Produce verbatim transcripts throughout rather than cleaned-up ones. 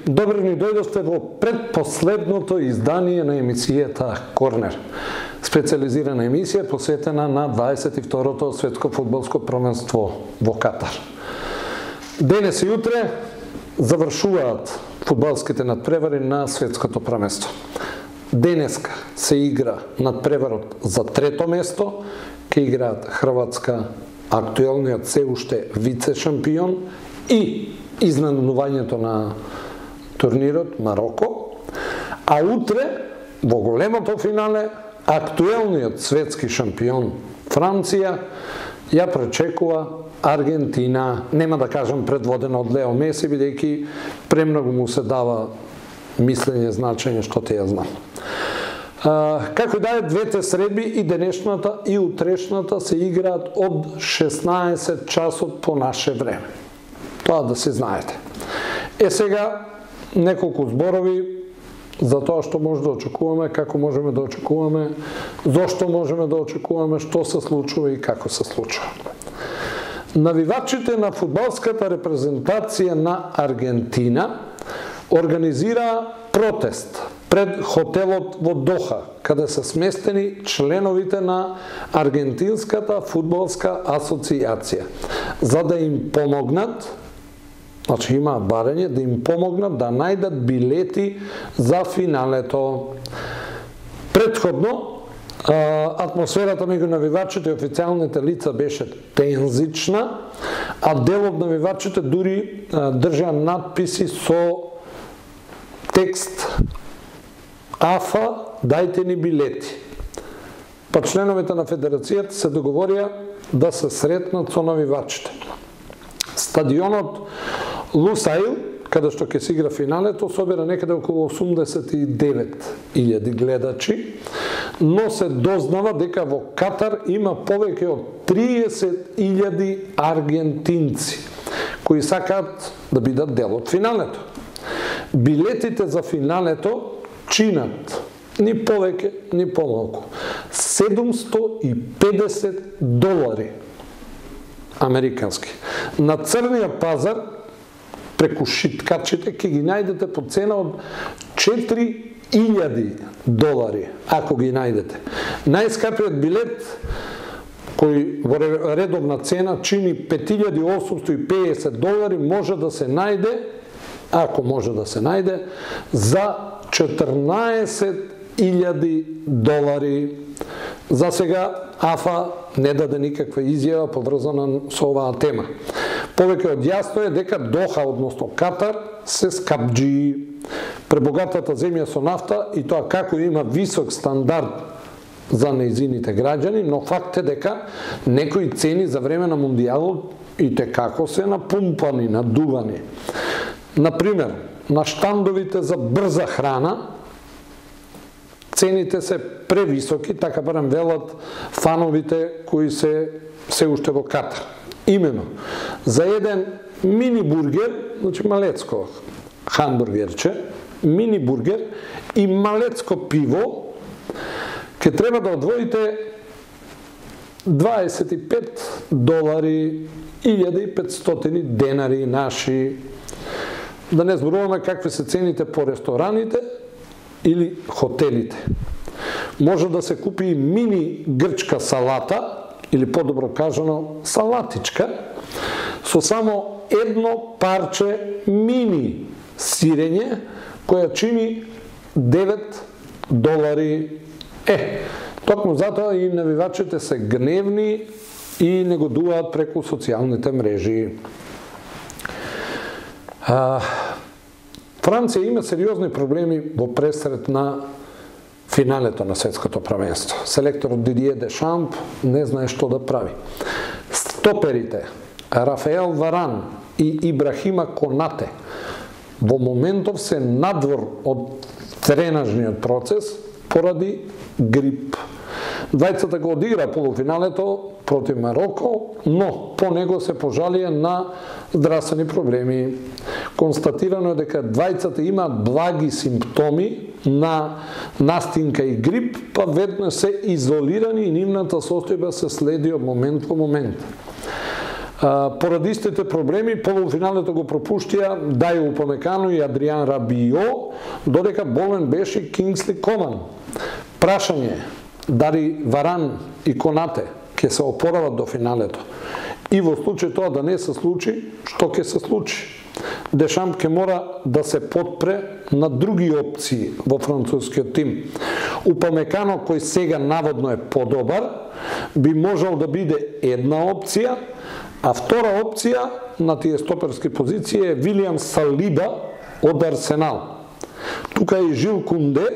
Добро ни дојдовте во предпоследното издание на емисијата Корнер. Специализирана емисија посветена на дваесет и второто светско фудбалско првенство во Катар. Денес и утре завршуваат фудбалските надпревари на светското првенство. Денеска се игра надпреварот за трето место, ке играат Хрватска, актуелниот се уште вице шампион, и изненадувањето на турнирот Мароко, а утре во големото финале актуелниот светски шампион Франција ја пречекува Аргентина. Нема да кажам предводена од Лео Меси, бидејќи премногу му се дава мислење, значење, што те ја знам. А, како и да е, двете средби, и денешната и утрешната, се играат од шеснаесет часот по наше време. Тоа да се знаете. Е сега неколку зборови за тоа што може да очекуваме, како можеме да очекуваме, зошто можеме да очекуваме, што се случува и како се случува. Навивачите на фудбалската репрезентација на Аргентина организира протест пред хотелот во Доха, каде се сместени членовите на Аргентинската фудбалска асоцијација, за да им помогнат. Значи имаат барање да им помогнат да најдат билети за финалето. Предходно, атмосферата меѓу навивачите и официјалните лица беше тензична, а дел од навивачите дури држа надписи со текст АФА, дајте ни билети. Па членовите на федерацијата се договорија да се сретнат со навивачите. Стадионот Лусаил, каде што ќе се игра финалето, собира некаде околу осумдесет и девет илјади гледачи, но се дознава дека во Катар има повеќе од триесет илјади аргентинци, кои сакаат да бидат дел од финалето. Билетите за финалето чинат ни повеќе, ни помалку седумсто и педесет долари американски. На црниот пазар преку шиткачите ќе ги најдете по цена од четири илјади долари, ако ги најдете. Најскапиот билет, кој во редовна цена чини пет илјади осумсто и педесет долари, може да се најде, ако може да се најде, за четрнаесет илјади долари. За сега АФА не даде никаква изјава поврзана со оваа тема. Повеќе од јасно е дека Доха, односно Катар, се скапџи. Пребогатата земја со нафта, и тоа како има висок стандард за нејзините граѓани, но факт е дека некои цени за време на мундијалот и те како се напумпани, надувани. Например, на штандовите за брза храна цените се превисоки, така барем велат фановите кои се се уште во Катар. Имено, за еден мини бургер, значи малецко хамбургерче, мини бургер и малецко пиво, ќе треба да одвоите дваесет и пет долари, илјада и петстотини денари наши. Да не зборуваме какви се цените по рестораните или хотелите. Може да се купи мини грчка салата, или подобро кажано салатичка, со само едно парче мини сирење, која чини девет долари. Е, токму затоа и навивачите се гневни и негодуваат преку социјалните мрежи. А, Франција има сериозни проблеми во пресрет на финалето на светското првенство. Селекторот Дидие Дешамп не знае што да прави. Стоперите Рафаел Варан и Ибрахима Конате во моментов се надвор од тренажниот процес поради грип. Двајцата го одигра полуфиналето против Мароко, но по него се пожалија на здравствени проблеми. Констатирано е дека двајцата имаат благи симптоми на настинка и грип, па веднаш се изолирани и нивната состојба се следи од момент во момент. Поради истите проблеми, полуфиналето го пропуштија Дајо Упамекано и Адриан Рабио, додека болен беше Кингсли Коман. Прашање е дали Варан и Конате ќе се опорават до финалето. И во случај тоа да не се случи, што ќе се случи? Дешамп ќе мора да се потпре на други опции во францускиот тим. Упамекано, кој сега наводно е подобар, би можел да биде една опција, а втора опција на тие стоперски позиции е Вилиам Салиба од Арсенал. Тука е и Жил Кунде,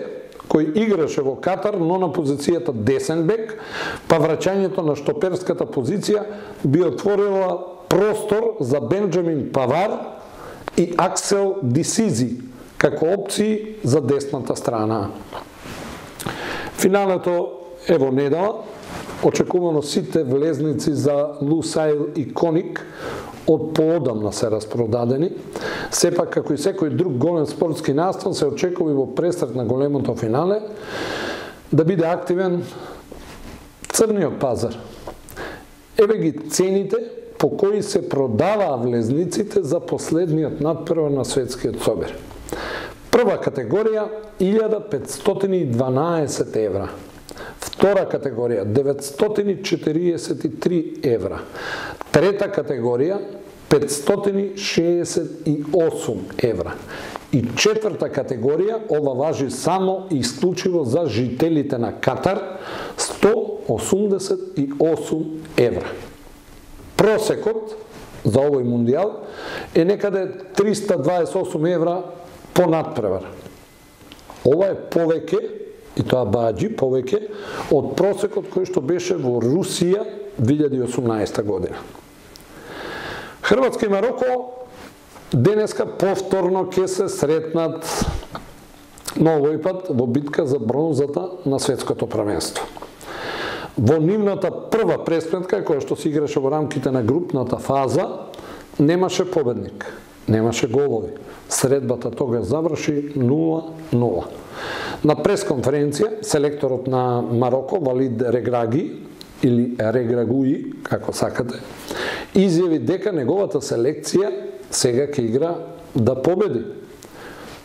кој играше во Катар, но на позицијата десен бек, па враќањето на штоперската позиција би отворила простор за Бенџамин Павар и Аксел Дисизи како опции за десната страна. Финалето е во недела. Очекувано сите влезници за Лусаил и Коник од поодамна се распродадени. Сепак, како и секој друг голем спортски настан, се очекува и во престрет на големото финале да биде активен црниот пазар. Еве ги цените по кои се продаваа влезниците за последниот надпревар на светскиот собир. Прва категорија илјада петстотини и дванаесет евра. Втора категорија деветстотини четириесет и три евра. Трета категорија петстотини шеесет и осум евра. И четврта категорија, ова важи само и исклучиво за жителите на Катар, сто осумдесет и осум евра. Просекот за овој мундијал е некаде триста дваесет и осум евра по надпревар. Ова е повеќе, и тоа баџи повеќе, од просекот кој што беше во Русија две илјади и осумнаесета година. Хрватска и Мароко денеска повторно ќе се сретнат на овој пат во битка за бронзата на светското првенство. Во нивната прва пресметка, која што се играше во рамките на групната фаза, немаше победник, немаше голови. Средбата тогаш заврши нула нула. На пресконференција, селекторот на Мароко, Валид Реграги, или Реграгуи, како сакате, изјави дека неговата селекција сега ќе игра да победи.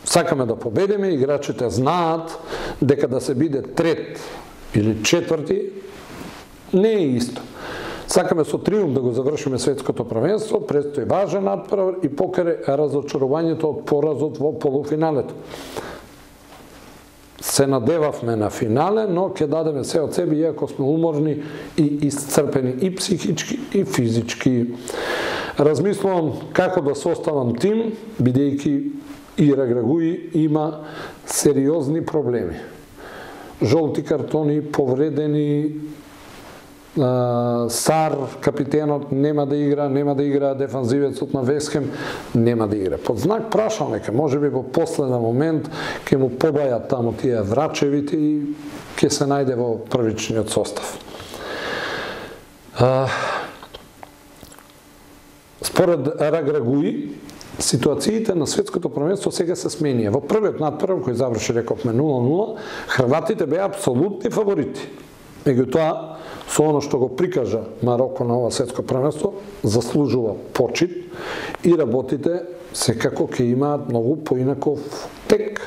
Сакаме да победиме, играчите знаат дека да се биде трет или четврти не е исто. Сакаме со триумф да го завршиме светското првенство, предстои важен надпревар и покрај разочарувањето од поразот во полуфиналето. Се надевавме на финале, но ќе дадеме се од себе, иако сме уморни и исцрпени и психички и физички. Размислувам како да составам тим, бидејќи и Реграгуи има сериозни проблеми. Жолти картони, повредени, Сар, капитенот, нема да игра, нема да игра, дефанзивецот на Весхем, нема да игра. Под знак прашалника, може би во последен момент ќе му побајат таму тие врачевите и ќе се најде во првичниот состав. Според Реграгуи, ситуациите на светското првенство сега се сменија. Во првиот надпревар кој заврши, рековме, нула нула, хрватите беа апсолутни фаворити. Меѓутоа, со оно што го прикажа Мароко на ова светско првенство, заслужува почит и работите секако ќе имаат многу поинаков тек.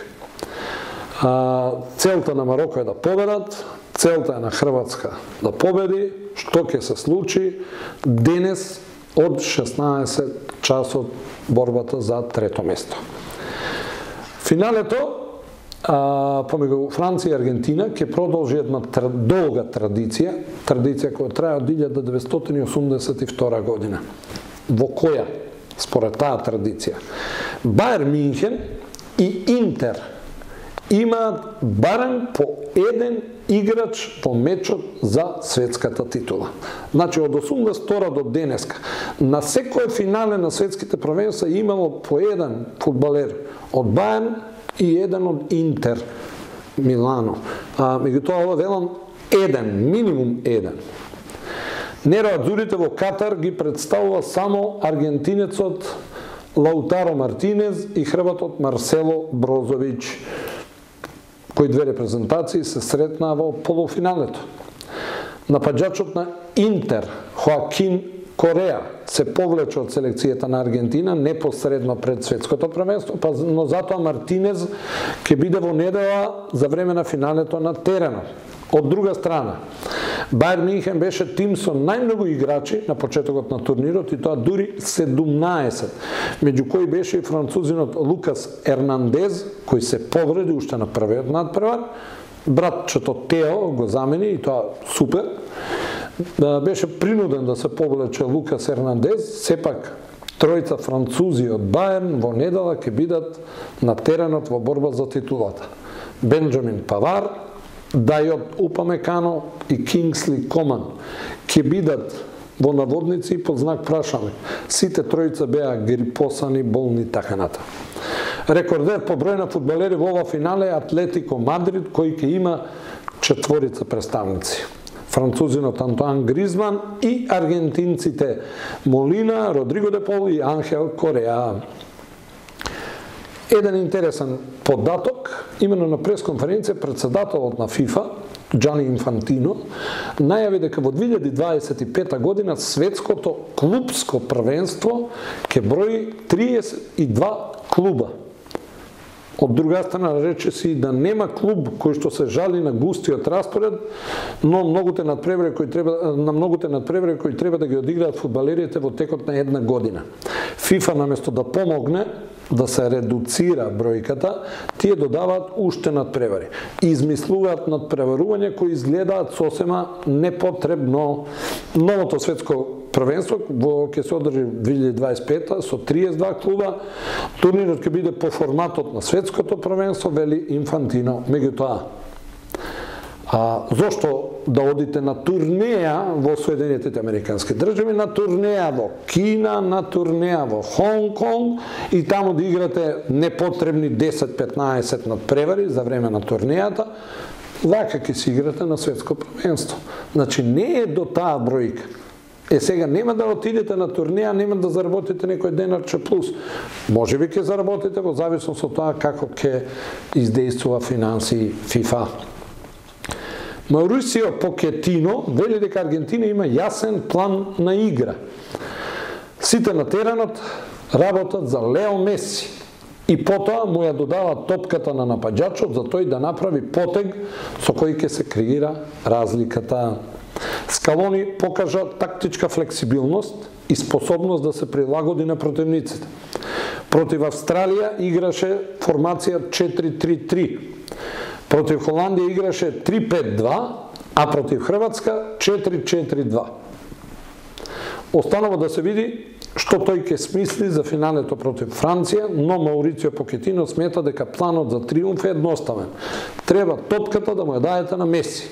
Целта на Мароко е да победат, целта е на Хрватска да победи, што ќе се случи денес од шеснаесет часот борбата за трето место. Финалето А, помеѓу Франција и Аргентина ќе продолжи една тр... долга традиција, традиција која трае од илјада деветстотини и осумдесет и втора година. Во која, според таа традиција, Бајер Минхен и Интер имаат барем по еден играч во мечот за светската титула. Значи, од осумдесет и втора до денеска, на секој финале на светските првенства имало по еден фудбалер од Бајерн и еден од Интер Милано. А, меѓутоа, ова велам еден, минимум еден. Нероадзурите во Катар ги представува само аргентинецот Лаутаро Мартинез и хрватот Марсело Брозович, кои две репрезентации се сретнаа во полуфиналето. Напаѓачот на Интер, Хоакин Кореја се повлече од селекцијата на Аргентина непосредно пред светското првенство, па но затоа Мартинез ќе биде во недела за време на финалето на теренот. Од друга страна, Бајер Минхен беше тим со најмногу играчи на почетокот на турнирот и тоа дури седумнаесет, меѓу кои беше и французинот Лукас Ернандез, кој се повреди уште на првиот надпревар, братчето Тео го замени и тоа супер. Беше принуден да се повлече Лукас Ернандез, сепак тројца французи од Бајерн во недела ќе бидат на теренот во борба за титулата. Бенџамин Павар, Дајот Упамекано и Кингсли Коман ќе бидат во наводници под знак прашање. Сите тројца беа грипосани, болни таканата. Рекордер по број на фудбалери во ова финале е Атлетико Мадрид, кој ќе има четворица представници. Французинот Антуан Гризман и аргентинците Молина, Родриго де Пол и Анхел Кореа. Еден интересен податок, имено на пресконференција председателот на ФИФА, Џани Инфантино, најави дека во две илјади дваесет и пета година светското клубско првенство ќе брои триесет и два клуба. Од друга страна рече си да нема клуб кој што се жали на густиот распоред, но многуте надпревари кои треба на многуте надпревари кои треба да ги одиграат фудбалерите во текот на една година. ФИФА наместо да помогне да се редуцира бројката, тие додаваат уште надпревари. Измислуваат надпреварувања кои изгледаат сосема непотребно. Новото светско првенство во ќе се одржи две илјади дваесет и пета со триесет и два клуба. Турнирот ќе биде по форматот на светското првенство, вели Инфантино. Меѓутоа, а зошто да одите на турнеја во Соединетите Американски држави, на турнеја во Кина, на турнеја во Хонг Конг и таму да играте непотребни десет-петнаесет надпревари за време на турнејата, вака ќе си играте на светско првенство. Значи не е до таа бројка. Е, сега нема да отидете на турнеја, нема да заработите некој денарче плюс. Може би ќе заработите во зависност од тоа како ќе издействува финанси ФИФА. Маурисио Покетино вели дека Аргентина има јасен план на игра. Сите на теренот работат за Лео Меси и потоа му ја додаваат топката на напаѓачот за тој да направи потег со кој ќе се креира разликата. Скалони покажа тактичка флексибилност и способност да се прилагоди на противниците. Против Австралија играше формација четири три три. Против Холандија играше три пет два, а против Хрватска четири четири два. Останува да се види што тој ќе смисли за финалето против Франција, но Маурицио Покетино смета дека планот за триумф е едноставен. Треба топката да му ја дајете на Меси.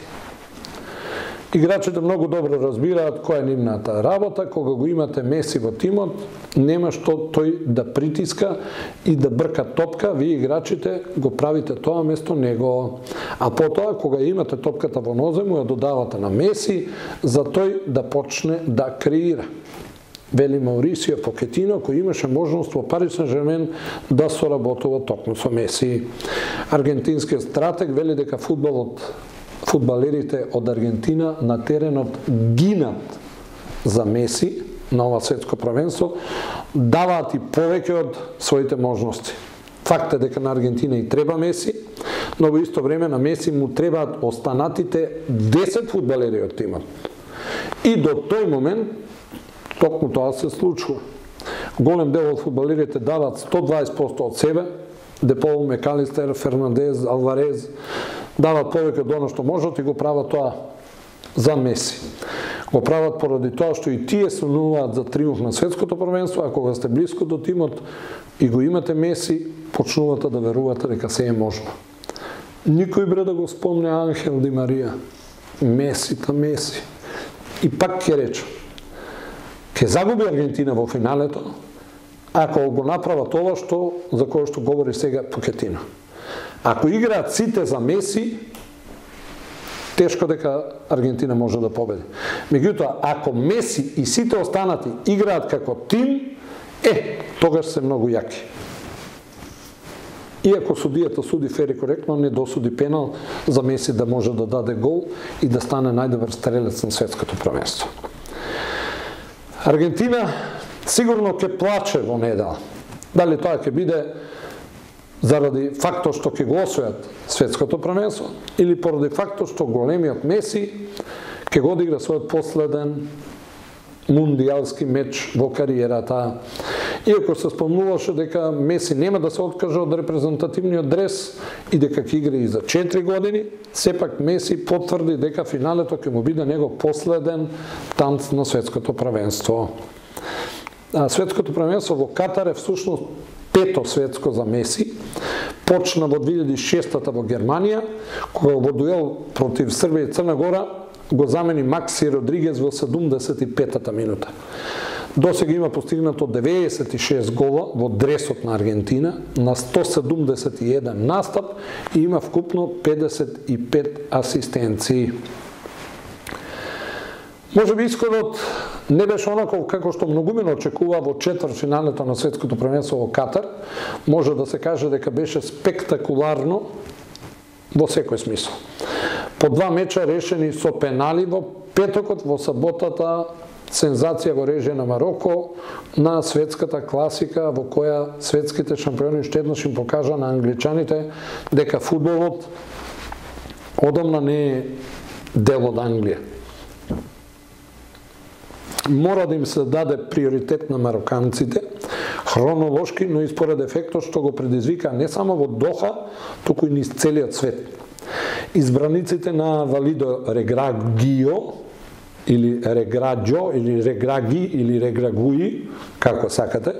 Играчите многу добро разбираат која е нивната работа, кога го имате Меси во тимот, нема што тој да притиска и да брка топка, вие играчите го правите тоа место него. А потоа, кога имате топката во нозе, му ја додавате на Меси, за тој да почне да креира. Вели Маурисио Покетино, кој имаше можност во Пари Сен-Жермен да соработува токму со Меси. Аргентинскиот стратег вели дека фудбалот фудбалерите од Аргентина на теренот гинат за Меси на ова светско првенство, даваат и повеќе од своите можности. Факт е дека на Аргентина и треба Меси, но во исто време на Меси му требаат останатите десет фудбалери од тимот. И до тој момент токму тоа се случува. Голем дел од фудбалерите даваат сто дваесет проценти од себе, Депол, Мекалистер, Фернандез, Алварез, дават повеќе од оно што можат и го прават тоа за Меси. Го прават поради тоа што и тие сонуваат за триумф на светското првенство, а кога сте блиско до тимот и го имате Меси, почнувате да верувате дека се е можно. Никој бре да го спомне Анхел Ди Марија. Меси, та Меси. И пак ќе речам, ќе загуби Аргентина во финалето, ако го направат ова што за кое што говори сега Покетино. Ако играат сите за Меси, тешко дека Аргентина може да победи. Меѓутоа, ако Меси и сите останати играат како тим, е, тогаш се многу јаки. Иако судијата суди фер и коректно, не досуди пенал за Меси да може да даде гол и да стане најдобар стрелец на светското првенство. Аргентина сигурно ќе плаче во недела. Дали тоа ќе биде заради фактот што ќе го освојат светското првенство или поради фактот што големиот Меси ќе го одигра својот последен мундијалски меч во кариерата. Иако се спомнуваше дека Меси нема да се откаже од репрезентативниот дрес и дека ќе игра и за четири години, сепак Меси потврди дека финалето ќе му биде него последен танц на светското првенство. А светското првенство во Катар е всушност пето светско за Меси. Почна во две илјади и шеста во Германија, кога во дуел против Србија и Црна Гора го замени Макси Родригес во седумдесет и петата минута. Досега има постигнато деветдесет и шест гола во дресот на Аргентина на сто седумдесет и еден настап и има вкупно педесет и пет асистенции. Може би исходот не беше онаков како што многумина очекува во четвртфиналето на светското првенство во Катар. Може да се каже дека беше спектакуларно во секој смисол. По два меча решени со пенали во петокот, во саботата сензација во режија на Мароко на светската класика во која светските шампиони уште еднаш им покажа на англичаните дека фудбалот одамна не е дел од Англија. Мора да им се даде приоритет на мароканците, хронолошки, но и според ефектот што го предизвика не само во Доха, туку и низ целиот свет. Избраниците на Валидо Реграгио, или Реграджо, или Реграги, или Реграгуи, како сакате,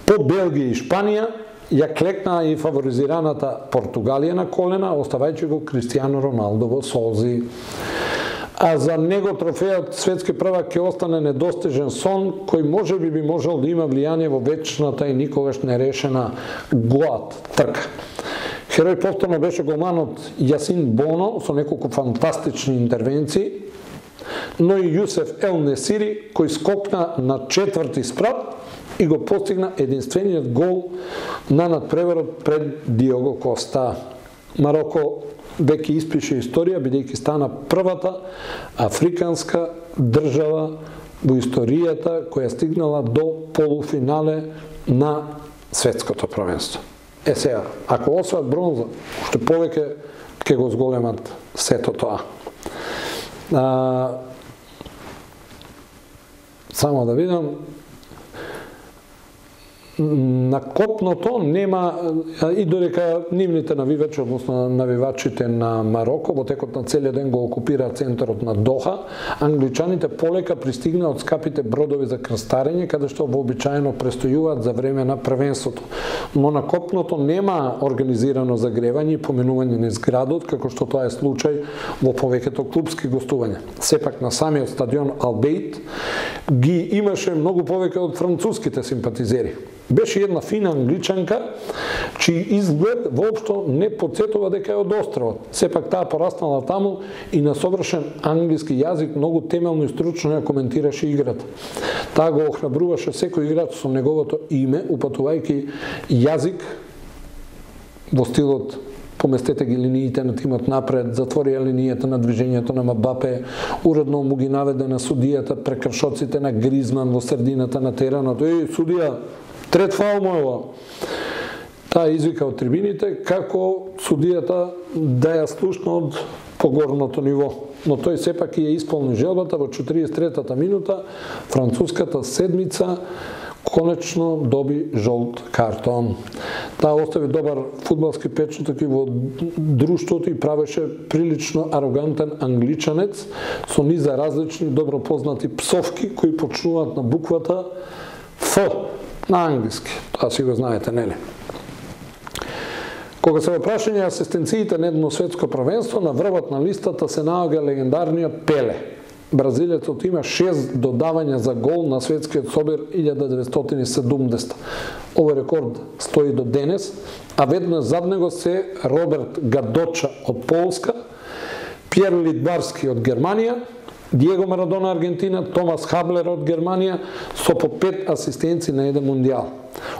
по Белгија и Шпанија, ја клекнаа и фаворизираната Португалија на колена, оставајќи го Кристијано Роналдо во солзи. А за него трофејот светски првак ќе остане недостижен сон, кој може би би можел да има влијание во вечната и никогаш нерешена ГОАТ трка. Херој повторно беше голманот Јасин Боно со неколку фантастични интервенции, но и Јусеф Ел Несири кој скокна на четврти спрат и го постигна единствениот гол на надпреварот пред Диого Коста. Мароко веќе испише историја, бидејќи стана првата африканска држава во историјата која стигнала до полуфинале на светското првенство. Е сега, ако освојат бронза, уште повеќе ќе го зголемат сето тоа. А, само да видам, на копното нема, и додека нивните навивачи, односно навивачите на Мароко, во текот на целиот ден го окупира центарот на Доха, англичаните полека пристигнаа од скапите бродови за крстарење, каде што вообичаено престојуваат за време на првенството. Но на копното нема организирано загревање и поминување низ градот, како што тоа е случај во повеќето клубски гостувања. Сепак на самиот стадион Албейт ги имаше многу повеќе од француските симпатизери. Беше една фина англичанка, чиј изглед воопшто не потсетува дека е од островот. Сепак таа пораснала таму и на совршен англиски јазик многу темелно и стручно ја коментираше играта. Таа го охрабруваше секој играч со неговото име, упатувајќи јазик во стилот поместете ги линиите на тимот напред, затворија линијата на движењето на Мбапе, уредно му ги наведе на судијата прекршоците на Гризман во средината на теранот. Еј, судија, трет фаул мојава. Таа извика од трибините како судијата да ја слушна од погорното ниво. Но тој сепак ја исполни желбата во четиридесет и третата минута, француската седмица конечно доби жолт картон. Таа остави добар фудбалски печаток и во друштвото и правеше прилично арогантен англичанец со низа различни добро познати псовки кои почнуваат на буквата Ф на англиски. Тоа си го знаете, нели? Кога се во прашање асистенциите на едно светско првенство, на врвот на листата се наоѓа легендарниот Пеле. Бразилецот има шест додавања за гол на светскиот собир илјада деветстотини и седумдесета. Овој рекорд стои до денес, а веднаш зад него се Роберт Гадоча од Полска, Пјер Лидбарски од Германија, Диего Марадона Аргентина, Томас Хаблер од Германија со по пет асистенции на еден мундијал.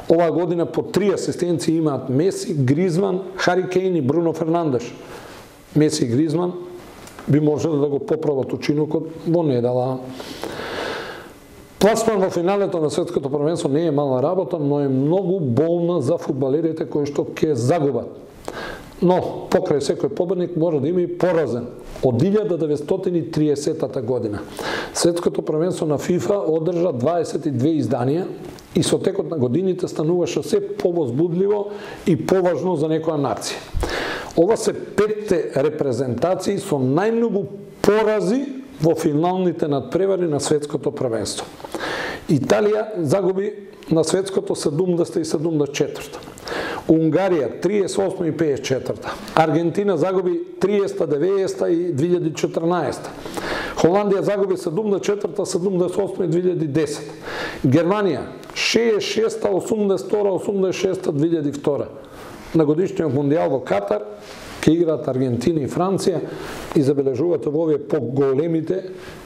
Оваа година по три асистенции имаат Меси, Гризман, Хари Кейн и Бруно Фернандеш. Меси и Гризман би можеле да го поправат учинокот во недела. Пласман во финалето на светското првенство не е мала работа, но е многу болна за фудбалерите кои што ќе загубат. Но, покрај секој победник мора да има и поразен. Од илјада деветстотини и триесетта година светското првенство на ФИФА одржа дваесет и две изданија и со текот на годините стануваше се повозбудливо и поважно за некоја нација. Ова се петте репрезентации со најмногу порази во финалните надпревари на светското првенство. Италија загуби на светското седумдесета и седумдесет и четврта. Унгарија триесет и осма и пеесет и четврта. Аргентина загуби триесета, деветдесета и две илјади и четрнаесета. Холандија загуби седумдесет и четврта, седумдесет и осма и две илјади и десета. Германија шеесет и шеста, осумдесет и втора, осумдесет и шеста, две илјади и втора. На годишниот мондијал во Катар ќе играат Аргентина и Франција и забележувате во овие поголемите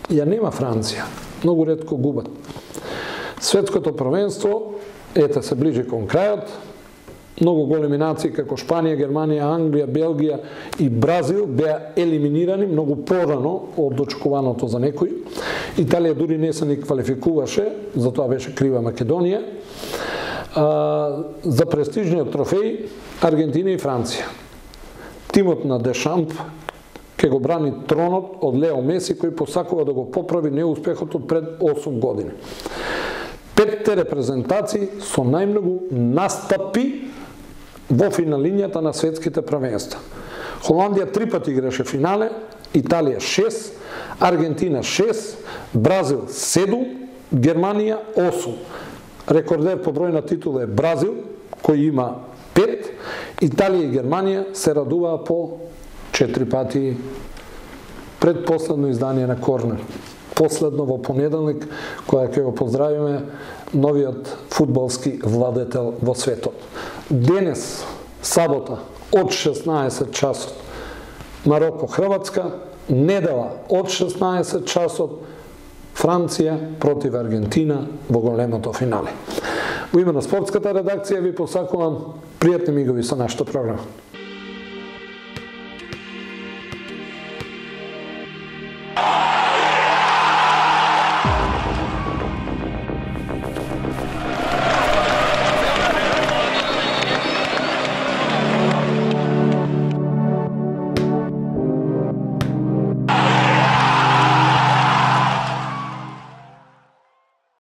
ја нема Франција. Многу ретко губат. Светското првенство ете се ближи кон крајот. Многу големи нации како Шпанија, Германија, Англија, Белгија и Бразил беа елиминирани многу порано од очекуваното за некој. Италија дури не се ни квалификуваше, затоа беше крива Македонија. А, за престижниот трофеј Аргентина и Франција. Тимот на Дешамп ќе го брани тронот од Лео Меси, кој посакува да го поправи неуспехот од пред осум години. Петте репрезентации со најмногу настапи во финалињата на светските првенства. Холандија три пати играше финале, Италија шест, Аргентина шест, Бразил седум, Германија осум. Рекордер по број на титула е Бразил, кој има пет, Италија и Германија се радуваа по четири пати. Предпоследно издание на Корнер. Последно во понеделник, која ќе го поздравиме новиот фудбалски владетел во светот. Денес, сабота, од шеснаесет часот, Мароко-Хрватска, недела од шеснаесет часот, Франција против Аргентина во големото финале. Во име на спортската редакција ви посакувам пријатни мигови со нашата програма.